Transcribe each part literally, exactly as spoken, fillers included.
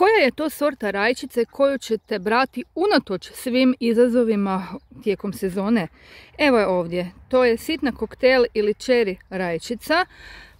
Koja je to sorta rajčice koju ćete brati unatoč svim izazovima tijekom sezone? Evo je ovdje. To je sitna koktel ili čeri rajčica.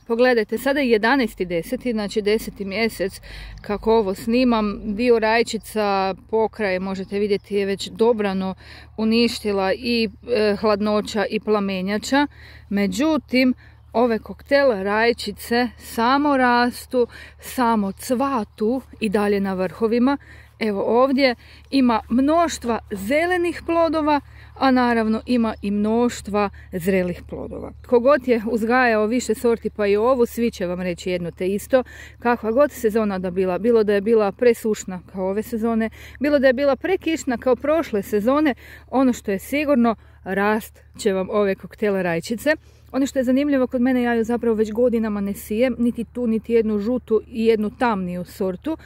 Pogledajte, sada je jedanaesti deseti, znači deseti mjesec kako ovo snimam. Dio rajčica pokraj, možete vidjeti, je već dobrano uništila i e, hladnoća i plamenjača. Međutim, ove koktel rajčice samo rastu, samo cvatu i dalje na vrhovima. Evo ovdje ima mnoštva zelenih plodova, a naravno ima i mnoštva zrelih plodova. Kogod je uzgajao više sorti, pa i ovu, svi će vam reći jedno te isto. Kakva god sezona da bila, bilo da je bila presušna kao ove sezone, bilo da je bila prekišna kao prošle sezone, ono što je sigurno, rast će vam ove koktele rajčice. Ono što je zanimljivo kod mene, ja ju zapravo već godinama ne sijem, niti tu, niti jednu žutu i jednu tamniju sortu,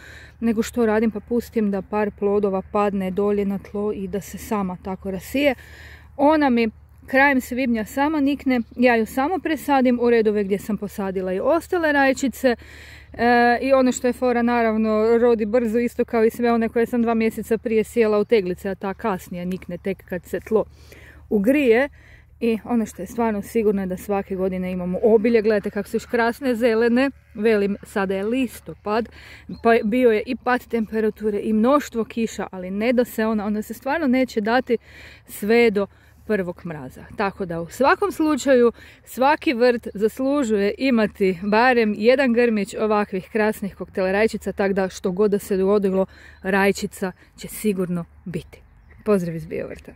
nego što radim, pa pustim da par plodova padne dolje na tlo i da se sama tako rasije. Ona mi krajem svibnja sama nikne, ja ju samo presadim u redove gdje sam posadila i ostale rajčice. E, I ono što je fora, naravno, rodi brzo, isto kao i sve one koje sam dva mjeseca prije sijela u teglice, a ta kasnije nikne tek kad se tlo ugrije. I ono što je stvarno sigurno je da svake godine imamo obilje. Gledajte kako su još krasne zelene. Velim, sada je listopad, pa bio je i pad temperature i mnoštvo kiša, ali ne da se ona, ona se stvarno neće dati sve do prvog mraza. Tako da u svakom slučaju svaki vrt zaslužuje imati barem jedan grmić ovakvih krasnih koktela rajčica, tako da što god da se dogodilo, rajčica će sigurno biti. Pozdrav iz Biovrta.